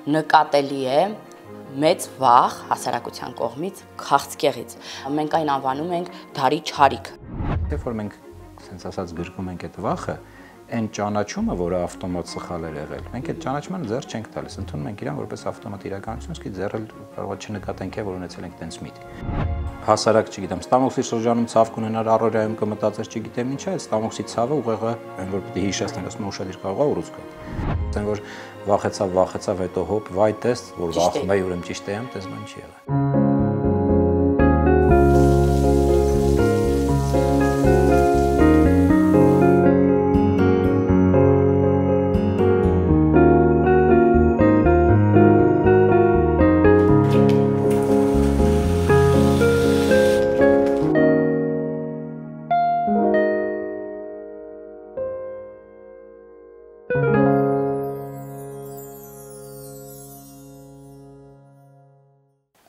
նկատելի է մեծ վախ հասարակության կողմից քաղցկեղից։ Մենք այն անվանում ենք դարի չարիք։ Երբ որ մենք ասենց ասած գրկում ենք այդ վախը, այն ճանաչումը, որը ավտոմատ սխալ է եղել, մենք այդ ճանաչմանը ձեռ չենք տալիս, ընդունում ենք իրան որպես ավտոմատ իրականություն, իսկ ձեռել կարող է չնկատենք, որ ունեցել ենք տենց միտք։ Հասարակ, չգիտեմ, ստամոքսի շրջանում ցավ կունենար, առօրյայում կմտածես, չգիտեմ ինչա, այդ ստամոքսի ցավը ուղեղը, այն որ պիտի հիշեցնել, ասում ուշադիր կարող է ուռուցք գա։ Ասեն որ վախեցավ, հետո հոп, վայ տես, որ վախում է, ուրեմն ճիշտ եմ, տես բան չի եղել։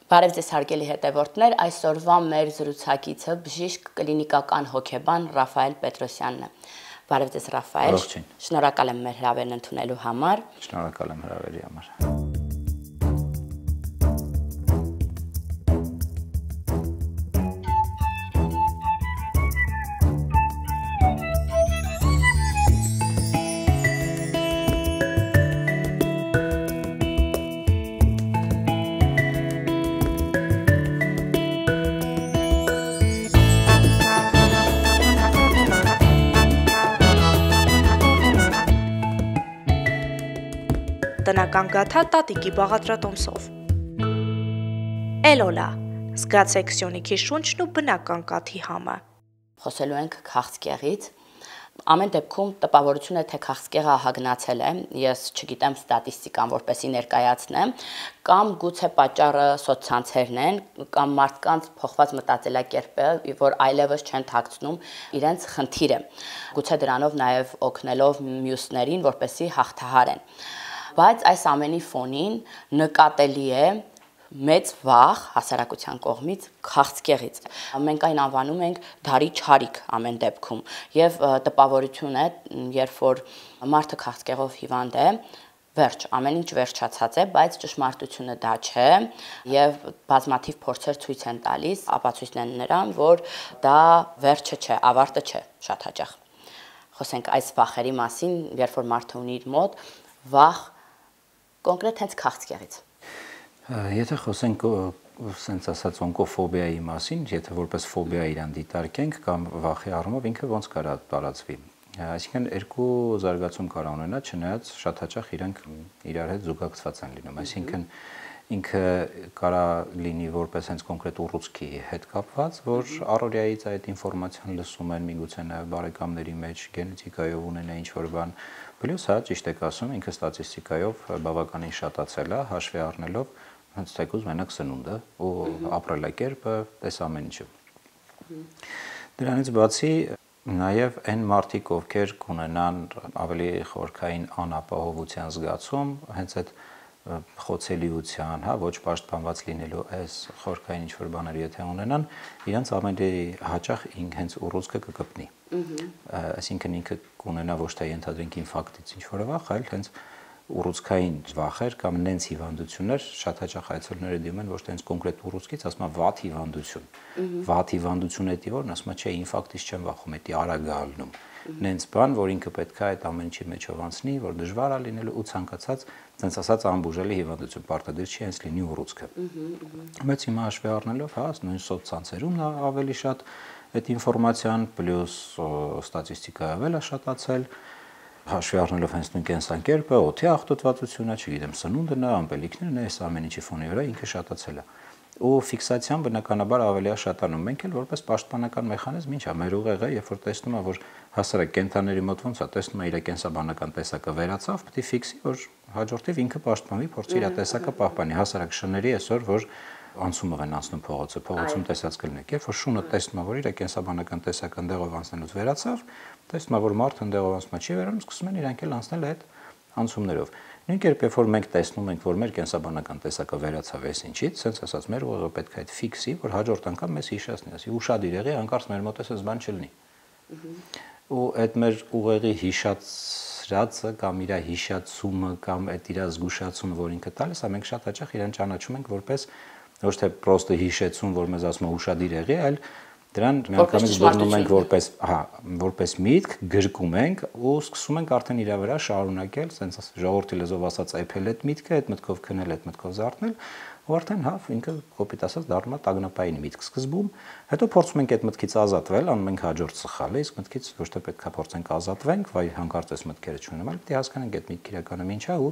Բարև ձեզ հարգելի հետևորդներ, այսօրվա մեր զրուցակիցը բժիշկ կլինիկական հոգեբան Ռաֆայել Պետրոսյանն է։ Բարև ձեզ Ռաֆայել։ Շնորհակալ եմ մեր հրավերն ընդունելու համար։ Շնորհակալ եմ հրավերի համար։ Տնական գաթա տատիկի բաղադրատոմսով։ Էլոլա, զգացեք սյունիքի շունչն ու բնական կաթի համը։ Խոսելու ենք քաղցկեղից։ Ամեն դեպքում տպավորություն է, թե քաղցկեղը ահագնացել է, ես չգիտեմ ստատիստիկան որպեսի ներկայացնեմ, կամ գուցե պատճառը սոցցանցերն են, կամ մարդկանց փոխված մտածելակերպը, որ այլևս չեն թաքցնում իրենց խնդիրը։ Գուցե դրանով նաև օգնելով մյուսներին, որպեսի հաղթահարեն։ Բայց այս ամենի ֆոնին նկատելի է մեծ վախ հասարակության կողմից քաղցկեղից։ Մենք այն անվանում ենք դարի չարիք ամեն դեպքում եւ տպավորություն է, երբ որ մարդը քաղցկեղով հիվանդ է, վերջ, ամեն ինչ վերջացած է, բայց ճշմարտությունը դա չէ եւ բազմաթիվ փորձեր ցույց են տալիս, ապացույցն նրան, որ դա վերջը չէ, ավարտը չէ շատ հաճախ։ Խոսենք այս վախերի մասին, երբ որ մարդը ունի իր մոտ վախ կոնկրետ հենց քաղցկեղից։ Եթե խոսենք սենց ասած օնկոֆոբիայի մասին, եթե որպես ֆոբիա իրան դիտարկենք կամ վախի առումով ինքը ոնց կարա տարածվի։ Այսինքն երկու զարգացում կարա ունենա, չնայած շատ հաճախ իրանք իրար հետ զուգակցված են լինում, այսինքն ինքը կարա լինի որպես հենց կոնկրետ ուռուցքի հետ կապված, որ առօրյայից այդ ինֆորմացիան լսում են, միգուցե նաև բարեկամների մեջ գենետիկայով ունենա ինչ-որ բան, պլյուս հա ճիշտ եք ասում, ինքը ստատիստիկայով բավականին շատացել է, հաշվի առնելով հենց թեկուզ մենակ սնունդը ու ապրելակերպը, տես ամեն ինչը։ Դրանից բացի նաև այն մարդիկ, ովքեր կունենան ավելի խորքային անապահովության զգացում, հենց այդ խոցելիության, հա, ոչ պաշտպանված լինելու այս խորքային ինչ-որ բաներ եթե ունենան, իրանց ավելի հաճախ հենց ուռուցքը կկպնի։ Այսինքն ինքը կունենա ոչ թե ենթադրենք ինֆարկտից ինչ-որ վախ, այլ հենց ուռուցքային վախեր կամ նենց հիվանդություններ, շատ հաճախ այցելուները դիմում են ոչ թե հենց կոնկրետ ուռուցքից, ասում են վատ հիվանդություն։ Վատ հիվանդություն էդի որն ասում է, չէ, ինֆարկտից չեմ վախում, էդի արագ է ալնում։ Նենց բան, որ ինքը պետք է այդ ամեն ինչի մեջով անցնի, որ դժվար է լինելու ու ցանկացած, ցենց ասած անբուժելի հիվանդություն, պարտադիր չի հենց լինի ուռուցքը։ Բայց հիմա հաշվի առնելով, հա, նույն սոցցանցերում ավելի շատ այդ ինֆորմացիան, պլյուս ստատիստիկայով էլ է շատացել, հաշվի առնելով հենց նույն կենսակերպը, օդի աղտոտվածությունը, չգիտեմ, սնունդն է, ամպելիքներն է, այս ամեն ինչի ֆոնի վրա ինքը շատացել է։ Ու ֆիքսացիան բնականաբար ավելի է շատանում։ Մենք էլ որպես պաշտպանական մեխանիզմ ինչա, մեր ուղեղը, երբ որ տեսնում է, որ հասարակ կենթաների մոտ ոնց է, տեսնում է իր կենսաբանական տեսակը վերացավ, պետք է ֆիքսի, որ հաջորդիվ ինքը պաշտպանվի, փորձի իր տեսակը պահպանի։ Հասարակ շների այսօր, որ անցումով են անցնում փողոցում տեսած կլինեք, երբ որ շունը տեսնում է, որ իր կենսաբանական տեսակը ընդեղով անցնելուց վերացավ, տեսնում է, որ մարդը ընդեղով անցնում չի վերանում, սկսում են իրանք էլ անցնել այդ անցումներով։ Նույն կերպ երբ որ մենք տեսնում ենք, որ մեր կենսաբանական տեսակը վերացավ այս ինչից, sense ասած մեր ուղեղը պետք է այդ ֆիքսի, որ հաջորդ անգամ մեզ հիշեցնի, ասի ուշադիր եղի, հանկարծ մեր մոտ էս բան չլինի։ Ու այդ մեր ուղեղի հիշած ասրածը կամ իր հիշացումը կամ այդ իր զգուշացումը, որ ինքը տալիս է, մենք շատ հաճախ իրեն ճանաչում ենք որպես ոչ թե պրոստը հիշեցում, որ մեզ ասում է ուշադիր եղի, այլ դրան միանգամից բռնում ենք որպես միտք, գրկում ենք ու սկսում ենք արդեն իր վրա շարունակել, ասենց ժողովրդի լեզվով ասած այփել այդ միտքը, այդ մտքով քնել, այդ մտքով զարթնել, ու արդեն ինքը կոպիտ ասած դառնում է տագնապային միտք սկզբում, հետո փորձում ենք այդ մտքից ազատվել, անում ենք հաջորդ սխալը, իսկ մտքից ոչ թե պետք է փորձենք ազատվենք, վայ հանկարծ այս մտքերը չունեմ, այլ պետք է հասկանանք այդ միտքը իրականում ինչ է ու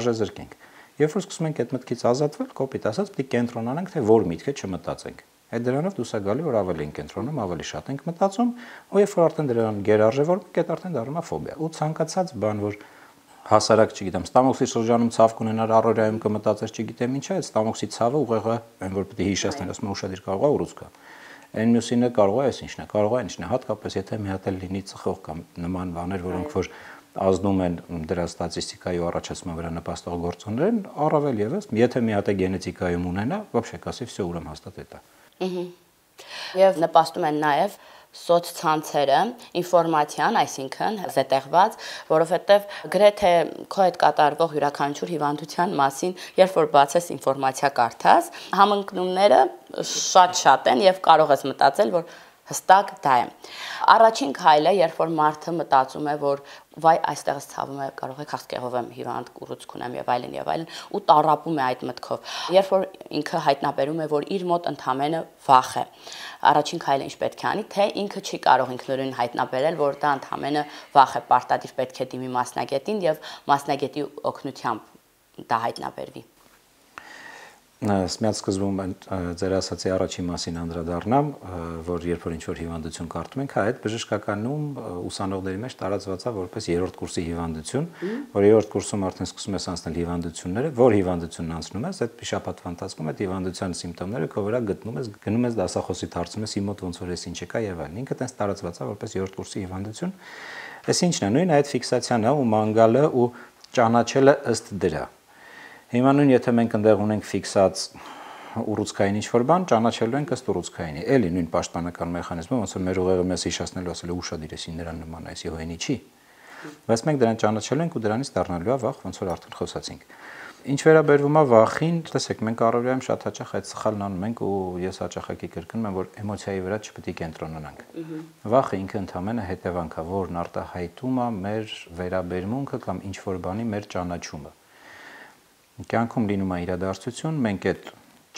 արժեզրկենք։ Երբ որ սկսում ենք այդ մտքից ազատվել, կոպիտ ասած պետք է կենտրոնանանք, թե որ միտքը չմտածենք։ Այդ դրանով դուս է գալի, որ ավելի ենք կենտրոնում, ավելի շատ ենք մտածում, ու երբ որ արդեն դրան գերարժևորվում, այդ արդեն դառնում է ֆոբիա։ Ու ցանկացած բան, որ հասարակ, չգիտեմ, ստամոքսի շրջանում ցավ կունենար, առօրյայում կմտածես, չգիտեմ ինչա, այդ ստամոքսի ցավը ուղեղը, այն որ պետք է հիշեցնել, ասում է ուշադիր կարող է ուռուցք։ Այն մյուսինը կարող է, այս ինչն է, կարող է ինչն է, հատկապես եթե մի հատ էլ լինի ծխող կամ նման բաներ, որոնք որ ազդում են դրա ստատիստիկայի ու առաջացման վրա նպաստող գործոններն, առավել եւս, եթե մի հատ է գենետիկայում ունենա, вообще կասի, всё, ուրեմն հաստատ է դա։ Եվ նպաստում են նաև սոցցանցերը, ինֆորմացիան, այսինքն զետեղված, որովհետև գրեթե քո հետ կատարվող յուրաքանչյուր հիվանդության մասին, երբ որ բացես ինֆորմացիա կարդաս, համընկնումները շատ են եւ կարող ես մտածել, որ հստակ դա է։ Առաջին քայլը, երբ որ մարդը մտածում է, որ վայ այստեղս ցավում է, կարող է քաղցկեղով եմ հիվանդ, կուռուցք ունեմ եւ այլն, ու տառապում է այդ մտքով։ Երբ որ ինքը հայտնաբերում է, որ իր մոտ ընդամենը վախ է, առաջին քայլը ինչ պետք է անի, թե ինքը չի կարող ինքնուրույն հայտնաբերել, որ դա ընդամենը վախ է, պարտադիր պետք է դիմի մասնագետին եւ մասնագետի օգնությամբ դա հայտնաբերվի։ Սմյաց սկզբում ձեր ասացի առաջին մասին անդրադառնամ, որ երբ որ ինչ-որ հիվանդություն կարդում ենք, այդ բժշկականում ուսանողների մեջ տարածված է որպես երրորդ կուրսի հիվանդություն, որ երրորդ կուրսում արդեն սկսում ես անցնել հիվանդությունները, որ հիվանդությունն անցնում ես, այդ շաբաթվա ընթացքում այդ հիվանդության սիմպտոմները քո վրա գնում ես դասախոսիդ հարցում ես իմ մոտ ոնց որ էս ինչ եկա եւ այլն։ Ինքը տես տարածված է որպես երրորդ կուրսի հիվանդություն։ Էս ինչն է, նույն այդ ֆիքսացիան է ու մանգալը ու ճանաչելը ըստ դրա։ Հիմա նույն եթե մենք այնտեղ ունենք ֆիքսած ուռուցքային ինչ-որ բան, ճանաչելու ենք ըստ ուռուցքայինի։ Էլի նույն պաշտպանական մեխանիզմը, ոնց որ մեր ուղեղը մեզ հիշեցնելու ասել է ուշադիր ես նրան նման է, հոյենի չի։ Բայց մենք դրան ճանաչելու ենք ու դրանից դառնալու է վախ, ոնց որ արդեն խոսացինք։ Ինչ վերաբերվում է վախին, տեսեք, մենք առօրյայում շատ հաճախ այդ սխալն անում ենք ու ես հաճախակի կրկնում եմ, որ էմոցիայի վրա չպետք է կենտրոնանանք։ Վախը ինքը ընդհանրապես հետևանք է, որն արտահայտում է մեր վերաբերմունքը կամ ինչ-որ բանի մեր ճանաչումը։ Կյանքում լինում է իրադարձություն, մենք այդ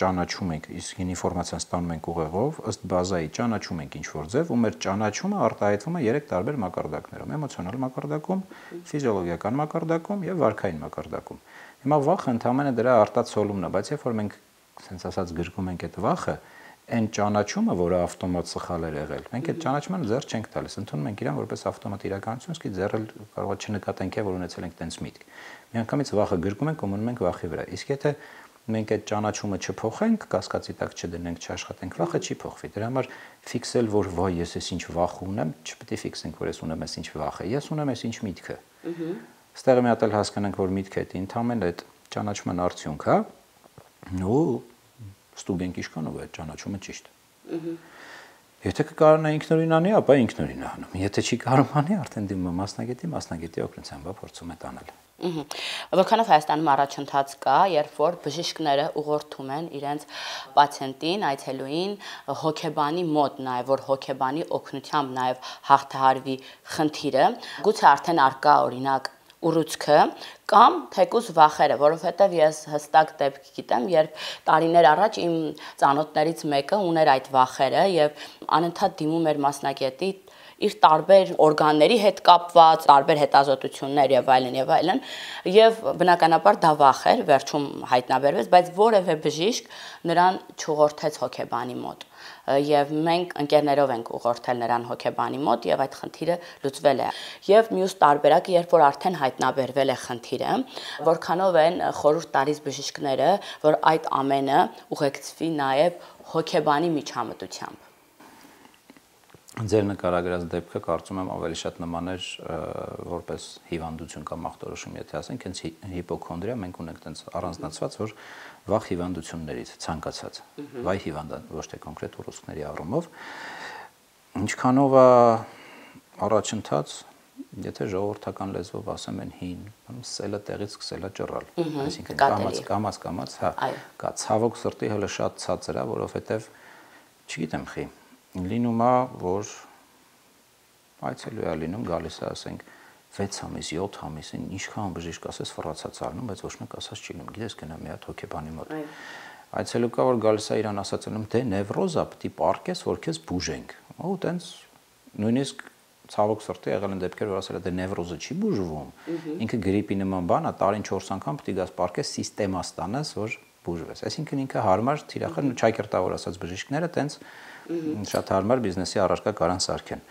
ճանաչում ենք, իսկ ինֆորմացիան ստանում ենք ուղեղով, ըստ բազայի ճանաչում ենք ինչ-որ ձև ու մեր ճանաչումը արտահայտվում է 3 տարբեր մակարդակներում՝ էմոցիոնալ մակարդակում, ֆիզիոլոգիական մակարդակում եւ վարքային մակարդակում։ Հիմա վախը ընդհանրապես դրա արտացոլումն է, բայց երբ որ մենք ասենց ասած գրկում ենք այդ վախը, այն ճանաչումը, որը ավտոմատ սխալ է եղել, մենք այդ ճանաչմանը ձեռ չենք տալիս, ընդունում ենք իրան որպես ավտոմատ իրականություն, իսկ ձեռել կարող է չնկատենք, որ ունեցել ենք տենց միտք։ Միանգամից վախը գրկում ենք ու մնում ենք վախի վրա։ Իսկ եթե մենք այդ ճանաչումը չփոխենք, կասկածի տակ չդնենք, չաշխատենք, վախը չի փոխվի։ Դրա համար ֆիքսել, որ վայ, ես էս ինչ վախ ունեմ, չպետք է ֆիքսենք, որ ես ունեմ էս ինչ վախ է։ Ես ունեմ էս ինչ միտքը։ Ստեղ մի հատ էլ հասկանանք, որ միտքը դա ընդհանրապես այդ ճանաչման արդյունք է, ու ստուգենք ինչքանով է այդ ճանաչումը ճիշտ։ Եթե կկարողանա ինքնուրույն անի, ապա ինքնուրույն է անում։ Եթե չի կարող անի, արդեն դիմում է մասնագետի օգնությամբ փորձում է տանել։ Որքանով Հայաստանում առաջընթաց կա, երբ որ բժիշկները ուղղորդում են իրենց պացիենտին, այցելուին հոգեբանի մոտ, նաև որ հոգեբանի օգնությամբ նաև հաղթահարվի խնդիրը, գուցե արդեն արկա օրինակ ուռուցքը կամ թեկուզ վախերը, որովհետև ես հստակ դեպք գիտեմ, երբ տարիներ առաջ իմ ծանոթներից մեկը ուներ այդ վախերը եւ անընդհատ դիմում էր մասնագետի իր տարբեր օրգանների հետ կապված, տարբեր հետազոտություններ եւ եւ բնականաբար դա վախ էր, վերջում հայտնաբերվեց, բայց որևէ բժիշկ նրան չուղղորդեց հոգեբանի մոտ։ Եվ մենք ընկերներով ենք ուղղորդել նրան հոգեբանի մոտ եւ այդ խնդիրը լուծվել է։ Եվ մյուս տարբերակը, երբ որ արդեն հայտնաբերվել է խնդիրը, որքանով են խորհուրդ տալիս բժիշկները, որ այդ ամենը ուղեկցվի նաեւ հոգեբանի միջամտությամբ։ Ձեր նկարագրած դեպքը կարծում եմ ավելի շատ նման էր որպես հիվանդություն կամ ախտորոշում, եթե ասենք, հենց հիպոքոնդրիա մենք ունենք տենց առանձնացված, որ վախ հիվանդություններից ցանկացած, վայ հիվանդան, ոչ թե կոնկրետ ուռուցքների առումով, ինչքանով է առաջընթաց, եթե ժողովրդական լեզվով ասեմ են հին, սելը տեղից սկսել է ճռալ, այսինքն կամած, հա, կա ցավոք սրտի հələ շատ ցածր է, որովհետև չգիտեմ խի, լինում է, որ այցելու է լինում, գալիս է, ասենք 6 ամիս, 7 ամիսին ինչքան բժիշկ ասես ֆռացած առնում, բայց ոչ մեկ ասած չի լինում, գիտես գնա մի հատ հոգեբանի մոտ։ Այցելու կա որ գալիս է իրան ասած անում, դե նևրոզա պիտի պարկես, որ քեզ բուժենք։ Ու տենց նույնիսկ ցավոք սրտի եղել են դեպքեր, որ ասել է դե նևրոզը չի բուժվում։ Ինքը գրիպի նման բան է, տարին 4 անգամ պիտի գաս պարկես սիստեմա ստանաս, որ բուժվես։ Այսինքն ինքը հարմար թիրախր չայկերտավոր ասած բժիշկները տենց շատ հարմար բիզնեսի առարկա կարան սարքեն։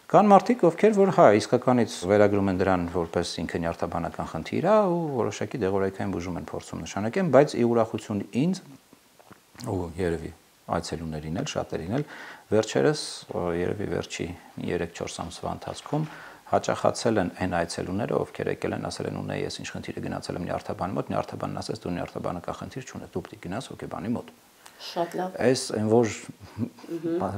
Կան մարդիկ, ովքեր որ հա իսկականից վերագրում են դրան որպես ինքը նյարդաբանական խնդիր է ու որոշակի դեղորայքային բուժում են փորձում նշանակեն, բայց ի ուրախություն ինձ ու երևի այցելուներին էլ շատերին էլ վերջերս երևի վերջի 3-4 ամսվա ընթացքում հաճախացել են այն այցելուները, ովքեր եկել են ասել են ունե ես ինչ խնդիր է գնացել եմ նյարդաբանի մոտ, նյարդաբանն ասեց դու նյարդաբանական խնդիր չունես, դու պիտի գնաս հոգեբանի մոտ։ Շատ լավ։ Այս այն որ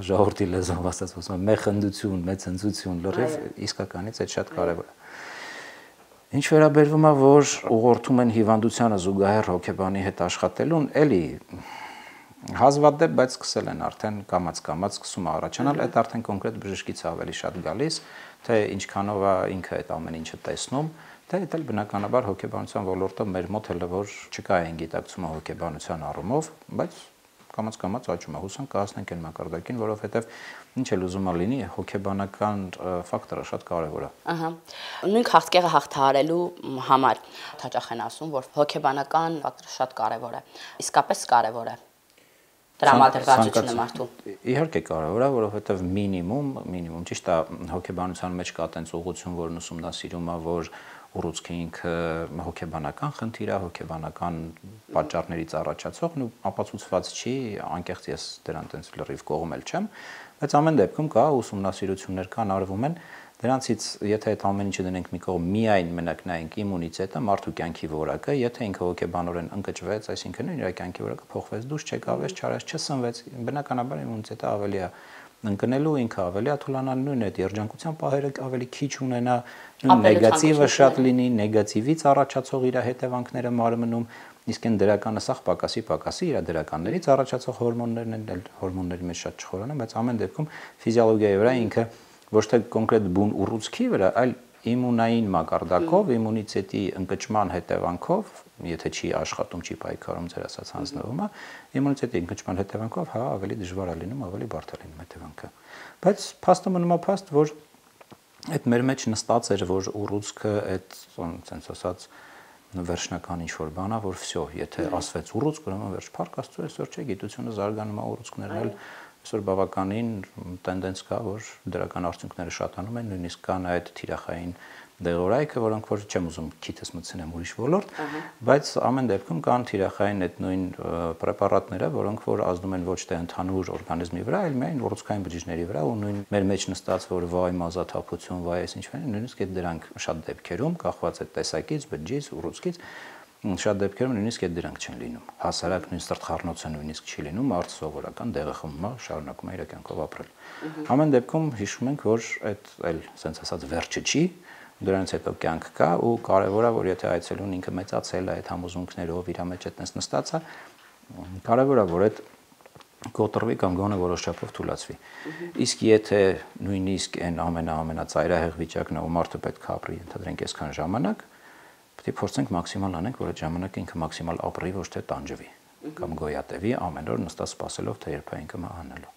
ժողովրդի լեզվով ասած ասում մեխնդություն, մեծընծություն, լրիվ իսկականից այդ շատ կարևոր է։ Ինչ վերաբերվում է որ ուղղորդում են հիվանդությանը զուգահեռ հոգեբանի հետ աշխատելուն, էլի հազվադեպ, բայց սկսել են արդեն կամած սկսում առաջանալ, այդ արդեն կոնկրետ բժշկից ավելի շատ գալիս, թե ինչքանով է ինքը այդ ամեն ինչը տեսնում, թե դա էլ բնականաբար հոգեբանության ոլորտը մեր մոտ հələ որ չկա այն գիտակցումը հոգեբանության առումով, բայց կամած աճում է, հուսանք կհասնենք այն մակարդակին, որովհետև ինչ էլ ուզում է լինի, հոգեբանական ֆակտորը շատ կարևոր է։ Ահա։ Նույն քաղցկեղը հաղթահարելու համար հաճախ են ասում, որ հոգեբանական ֆակտորը շատ կարևոր է։ Իսկապես կարևոր է։ Տրամադրվածությունը մարդու։ Իհարկե կարևոր է, որովհետև մինիմում ճիշտ է հոգեբանության մեջ կա տենց ուղղություն, որն ուսումնասիրում է, որ ուռուցքը ինքը հոգեբանական խնդիր է, հոգեբանական պատճառներից առաջացող ու ապացուցված չի, անկեղծ ես դրան տենց լրիվ կողմել չեմ, բայց ամեն դեպքում կա ուսումնասիրություններ կան արվում են, դրանցից եթե այդ ամեն ինչը դնենք մի կողմ միայն մենակ նայենք իմունիտետը, մարդու կյանքի որակը, եթե ինքը հոգեբանորեն ընկճվեց, այսինքն իր կյանքի որակը փոխվեց, դուրս չեկավ, չարեց, չսնվեց, բնականաբար իմունիտետը ավելի է ընկնելու, ինքը ավելի է թուլանալու, նույն այդ երջանկության պահերը ավելի քիչ ունենա, նեգատիվը շատ լինի, նեգատիվից առաջացող իր հետևանքները մարմնում, իսկ այն դրականը սա պակասի իր դրականներից առաջացող հորմոններն են, հորմոնների մեջ շատ չխորանան, բայց ամեն դեպքում ֆիզիոլոգիայի վրա ինքը ոչ թե կոնկրետ բուն ուռուցքի վրա, այլ իմունային մակարդակով, իմունիտետի ընկճման հետևանքով, եթե չի աշխատում, չի պայքարում ձեր ասած հանձնվումը, իմունիտետի ընկճման հետևանքով հա ավելի դժվար է լինում, ավելի բարդ է լինում հետևանքը։ Բայց փաստը մնում է փաստ, որ այդ մեր մեջ նստած էր, որ ուռուցքը այդ sense ասած վերջնական ինչ որ բան է, որ վсё, եթե ասվեց ուռուցք, ուրեմն վերջ փառք Աստծո, այսօր չէ գիտությունը զարգանում է, ուռուցքներն էլ այսօր բավականին տենդենս կա, որ դրական արդյունքները շատանում են, նույնիսկ կան այդ թիրախային դեղորայքը, որոնք որ չեմ ուզում քիթս մտցնեմ ուրիշ ոլորտ, բայց ամեն դեպքում կան թիրախային այդ նույն պրեպարատները, որոնք որ ազդում են ոչ թե ընդհանուր օրգանիզմի վրա, այլ միայն ուռուցքային բջիջների վրա, ու նույն մեր մեջ նստած որ վայ մազաթափություն, վայ այս ինչ-որ, նույնիսկ այդ դրանք շատ դեպքերում կախված այդ տեսակից, բջջից, ուռուցքից շատ դեպքերում նույնիսկ այդ դրանք չեն լինում։ Հասարակ նույն սրտխառնոցը նույնիսկ չի լինում, մարդը սովորական դեղը խմում է, շարունակում է իր կյանքով ապրել։ Ամեն դեպքում հիշում ենք, որ այդ էլ sense ասած վերջը չի, դրանից հետո կյանք կա ու կարևոր է, որ եթե այցելուն ինքը մեծացել է այդ համոզմունքներով, իր մեջ այդպես նստած է, կարևոր է, որ այդ կոտրվի կամ գոնե որոշ չափով թուլացվի։ Իսկ եթե նույնիսկ այն ամենածայրահեղ վիճակն է, ու մարդը պետք է ապրի, ընդհանրենք այսքան ժամանակ, պետք է փորձենք մաքսիմալ անենք, որ այդ ժամանակը ինքը մաքսիմալ ապրի, ոչ թե տանջվի կամ գոյատևի ամեն օր նստած սպասելով, թե երբ է ինքը մահանալու։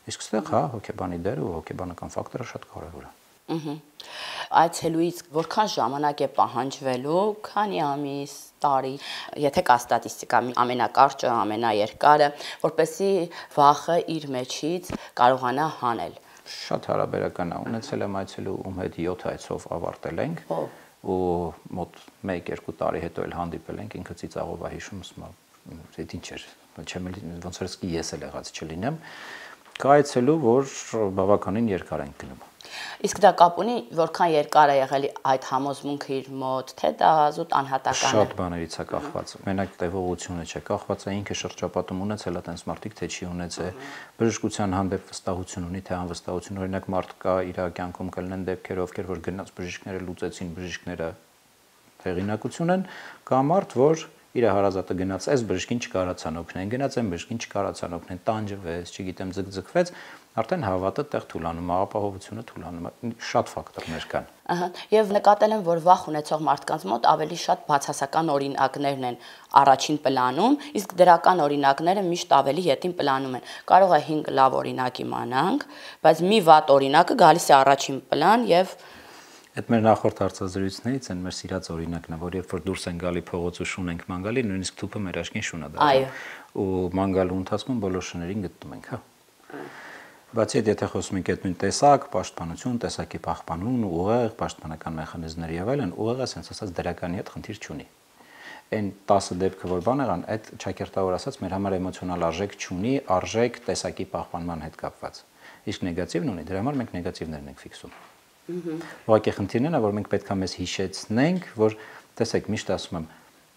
Իսկ այստեղ հա հոգեբանի դերը ու հոգեբանական ֆակտորը շատ կարևոր է։ Այցելուից որքան ժամանակ է պահանջվելու, քանի ամիս, տարի, եթե կա ստատիստիկա, ամենակարճը, ամենաերկարը, որպեսզի վախը իր մեջից կարողանա հանել։ Շատ հարաբերական է, ունեցել եմ այցելու ում հետ 7 այցով ավարտել ենք ու մոտ 1-2 տարի հետո էլ հանդիպել ենք, ինքը ծիծաղով է հիշում, ասում է, ինչ էր, ոնց որ ես էլ եղած չլինեմ, կա այցելու, որ բավականին երկար ենք գնում։ Իսկ դա կապ ունի, որքան երկար է եղել այդ համոզմունքը իր մոտ, թե դա զուտ անհատական է։ Շատ բաներից է կախված։ Մենակ տևողությունը չէ, կախված է ինքը շրջապատում ունեցել է տենց մարդիկ, թե չի ունեցել, բժշկության հանդեպ վստահություն ունի, թե անվստահություն, օրինակ մարդ կա իր կյանքում կլինեն դեպքեր, ովքեր որ գնաց բժիշկները լուծեցին, բժիշկները հեղինակություն են, կա մարդ, որ իր հարազատը գնաց, այս բժշկին չկարացան օգնեն, գնաց այն բժշկին չկարացան օգնեն, տանջվեց, չգիտեմ, ձգձգվեց, արդեն հավատը տեղ թուլանում, ապահովությունը թուլանում, շատ ֆակտորներ կան։ Ահա, եւ նկատել եմ, որ վախ ունեցող մարդկանց մոտ ավելի շատ բացասական օրինակներն են առաջին պլանում, իսկ դրական օրինակները միշտ ավելի ետին պլանում են։ Կարող է 5 լավ օրինակ իմանանք, բայց մի վատ օրինակը գալիս է առաջին պլան եւ Այդ մեր նախորդ հարցազրույցներից են մեր սիրած օրինակն է, որ երբ որ դուրս են գալի փողոց ու շուն ենք ման գալի, նույնիսկ թուփը մեր աչքին շուն է դառնում։ Այո։ Ու ման գալու ընթացքում բոլոր շներին գտնում ենք, հա։ Բացի այդ, եթե խոսում ենք այդ նույն տեսակ, պաշտպանություն, տեսակի պահպանություն, ուղեղ, պաշտպանական մեխանիզմներ եւ այլն, ուղեղը ասենց ասած դրականի հետ խնդիր չունի։ Այն 10 դեպքը, որ բան եղան, այդ ճակերտավոր ասած մեր համար էմոցիոնալ արժեք չունի, արժեք տեսակի պահպանման հետ կապված։ Իսկ նեգատիվն ունի, դրա համար մենք նեգատիվներն ենք ֆիքսում։ Ուղղակի խնդիրն է, որ մենք պետք է մեզ հիշեցնենք, որ տեսեք, միշտ ասում եմ,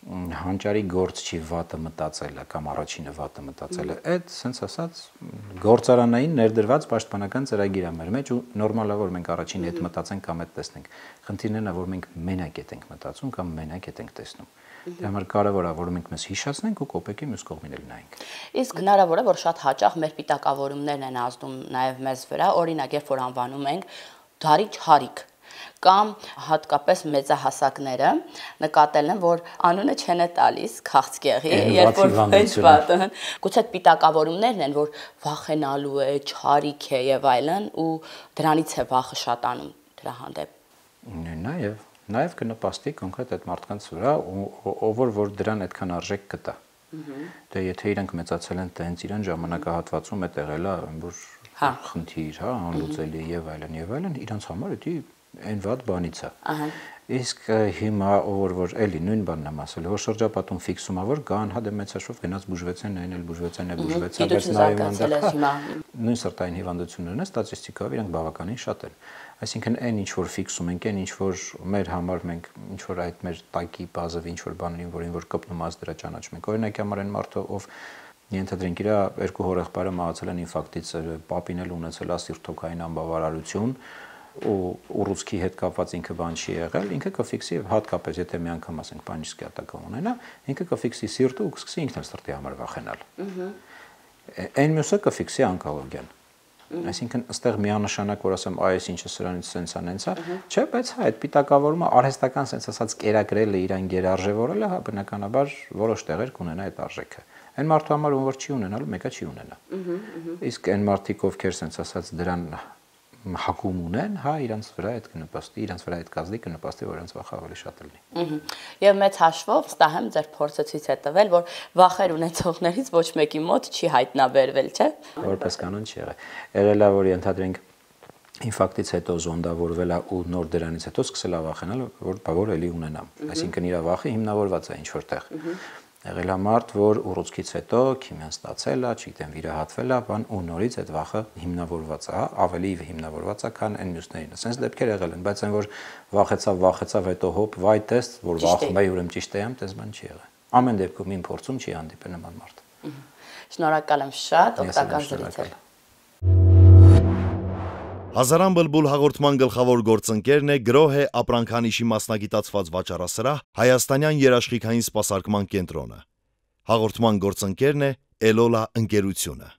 հանճարի գործ չի վատը մտածելը կամ առաջինը վատը մտածելը, այդ sense ասած գործարանային ներդրված պաշտպանական ծրագիր է մեր մեջ ու նորմալ է որ մենք առաջինը այդ մտածենք կամ այդ տեսնենք։ Խնդիրն է, որ մենք մենակ ենք մտածում կամ մենակ ենք տեսնում։ Դրա համար կարևոր է որ մենք մեզ հիշացնենք ու կոպեկի մյուս կողմին էլ նայենք։ Իսկ հնարավոր է որ շատ հաճախ մեր պիտակավորումներն են ազդում նաև մեզ վրա, օրինակ երբ որ անվանում ենք դարի չարիք կամ հատկապես մեծահասակները նկատել են, որ անունը չեն տալիս քաղցկեղի, երբ որ ոչ վատը, գուցե պիտակավորումներն են, որ վախենալու է, չարիք է եւ այլն, ու դրանից է վախը շատանում դրա հանդեպ։ Նաեւ կնպաստի կոնկրետ այդ մարդկանց վրա, ով որ դրան այդքան արժեք կտա։ Դե եթե իրանք մեծացել են տենց իրան ժամանակահատվածում է տեղել է, որ խնդիր, հա, անլուծելի եւ այլն, իրանց համար դա այն վատ բանից է։ Իսկ հիմա որ էլի նույն բանն եմ ասել, որ շրջապատում ֆիքսում է որ կան, հա դե մեծաշով գնաց բուժվեցեն, այն էլ բուժվեցեն, բայց նայում են նույն սրտային հիվանդություններն է ստատիստիկայով իրանք բավականին շատ են։ Այսինքն այն ինչ որ ֆիքսում ենք, այն ինչ որ մեր համար մենք ինչ որ այդ մեր տակի բազով ինչ որ բաներին, որին որ կպնում аз դրա ճանաչում ենք։ Օրինակ համար այն մարդը ով ենթադրենք իր երկու հորեղբայրը մահացել են ինֆարկտից, պապին էլ ունեցել է սիրտոքային անբավարարություն ու ուռուցքի հետ կապված ինքը բան չի եղել, ինքը կֆիքսի հատկապես եթե մի անգամ ասենք պանический атака ունենա, ինքը կֆիքսի սիրտը ու կսկսի ինքն էլ սրտի համար վախենալ։ Այն մյուսը կֆիքսի օնկոլոգիան։ Այսինքն այստեղ միանշանակ որ ասեմ այս ինչը սրանից սենսա նենցա, չէ, բայց հա այդ պիտակավորումը արհեստական sense ասած կերակրելը իրան գերարժևորելը հա բնականաբար որոշ տեղեր կունենա այդ արժեքը։ Այն մարդու համար ում որ չի ունենալու, մեկը չի ունենա։ Իսկ այն մարդիկ ովքեր sense ասած դրան հակում ունեն, հա, իրանց վրա այդ կնպաստի, իրանց վրա այդ կազդի կնպաստի, որ իրանց վախը ավելի շատ լինի։ Եվ մեծ հաշվով վստահ եմ ձեր փորձը ցույց է տվել, որ վախեր ունեցողներից ոչ մեկի մոտ չի հայտնաբերվել, չէ՞։ Որպես կանոն չի եղել։ Եղել է որ ենթադրենք ինֆարկտից հետո զոնդավորվել է ու նոր դրանից հետո սկսել է վախենալ, որ էլի ունենամ։ Այսինքն իր վախը հիմնավորված է ինչ որտեղ։ Եղել է մարդ, որ ուռուցքից հետո քիմիան ստացել է, չգիտեմ, վիրահատվել է, բան ու նորից այդ վախը հիմնավորված է, ավելի հիմնավորված է, քան այն մյուսներին։ Ասենց դեպքեր եղել են, բայց այն որ վախեցավ, հետո հոп, վայ տես, որ վախում է, ուրեմն ճիշտ եմ, տես բան չի եղել։ Ամեն դեպքում իմ փորձում չի հանդիպել նման մարդ։ Շնորհակալ եմ շատ, օգտակար զրույց էր։ Հազարան բլբուլ հաղորդման գլխավոր գործընկերն է գրոհ է ապրանքանիշի մասնագիտացված վաճառասրահ Հայաստանյան երաշխիքային սպասարկման կենտրոնը։ Հաղորդման գործընկերն է Էլոլա ընկերությունը։